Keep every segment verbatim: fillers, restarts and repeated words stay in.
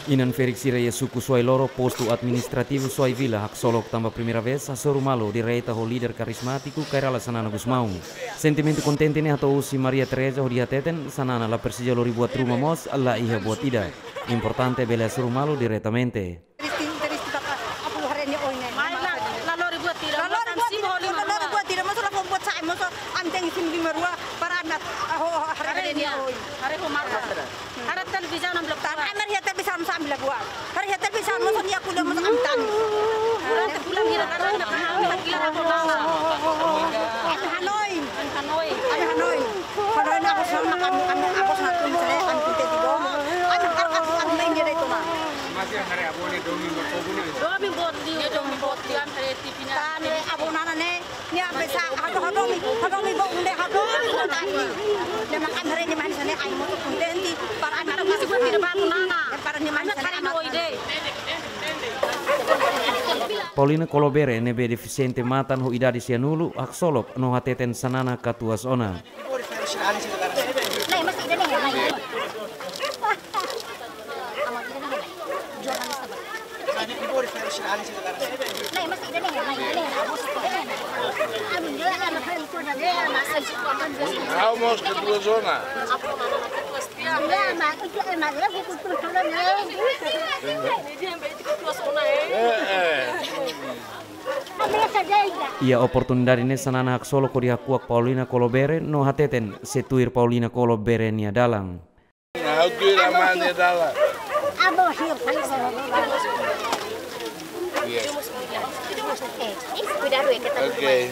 Inan-ferik sira iha suku Suai Loro, postu administrativu Suai Vila, haksolok tanba primeira vez hasoru malu direta ho líder karizmátiku Kay Rala Xanana Gusmão. Sentimentu kontente ne'e hato'o husi Maria Teresa hodi hateten, Xanana la presiza lori buat ruma mós, la iha buat ida. Importante bele hasoru malu diretamente. Triste, triste, bapa, apu haree nia oin ne'e. Mai la, la lori buat ida, la lori buat ida, la lori buat ida, mós la fó buat sa'e, mós ami tenke simu lima rua para ami, ah, ho, haree nia oin. Haree ho mata. Haree televizaun ami la buat. Tan ami haree televizaun mós ami la buat. Haree televizaun mós nia ko'alia mós ami tangis. Durante bulan hira karena pernah kita gila apa mama. Ami hanoin. Ami hanoin. Ami hanoin. Hanoin aku sama kami, kami aku sama kami saya kami kita di bawah. Ami kar aku kami main dia itu mah. Masih hari abone domi berkobun. Domi boti, domi boti, am hari T V-nya. Tane abonana ne. Nia bisa, hado, hado mi, hado mi bo unde, hado mi bo tani. Nia makan hari nia manis ane ai moto kontente, para anak. Para nia manis ane anak. Paulina Kolobere ne'ebé defisiente matan ho idade sianulu, haksolok no hateten Xanana katuas ona. Ha'u mós katuas ona. Eh, eh. Iha oportunidade ne'e Xanana haksolok hodi hakuak Paulina Kolobere no hateten sei tuir Paulina Kolobere nia dalan. Ha'u tuir amá nia dalan. Oke.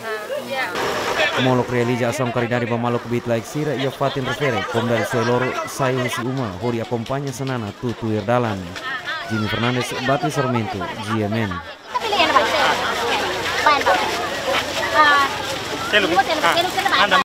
Molok realiza asaun karidade ba maluk bit laek sira iha fatin refere, komunidade Suai Loro sai husi uma hodi akompaña Xanana to'o tuir dalan. Jimmy Fernandes, Bati Sarmento, G M N.